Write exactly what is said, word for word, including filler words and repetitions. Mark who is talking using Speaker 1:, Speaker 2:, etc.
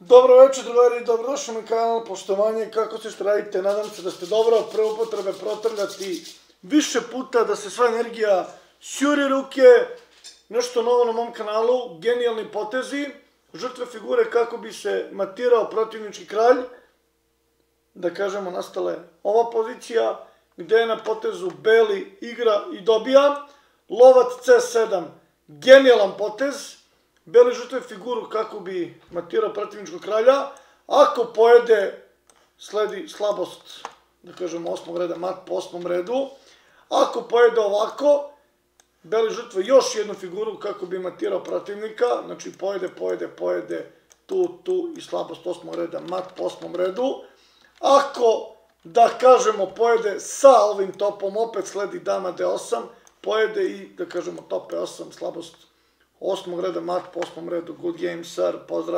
Speaker 1: Dobro večer, drugari, dobrodošli na kanal, poštovanje, kako se što radite, nadam se da ste dobro, pre upotrebe protrljati više puta, da se sva energija sjuri ruke, nešto novo na mom kanalu, genijalni potezi, žrtve figure kako bi se matirao protivnički kralj, da kažemo nastale ova pozicija, gde je na potezu beli igra i dobija, lovac ce sedam, genijalan potez, beli žrtve figuru kako bi matirao protivničkog kralja, ako pojede sledi slabost, da kažemo osmog reda, mat po osmom redu, ako pojede ovako, beli žrtve još jednu figuru kako bi matirao protivnika, znači pojede, pojede, pojede, tu, tu i slabost osmog reda, mat po osmom redu, ako, da kažemo, pojede sa ovim topom, opet sledi dama de osam, pojede i, da kažemo, top e osam, slabost osmog reda, mat po osmom redu, good game, sir, pozdrav.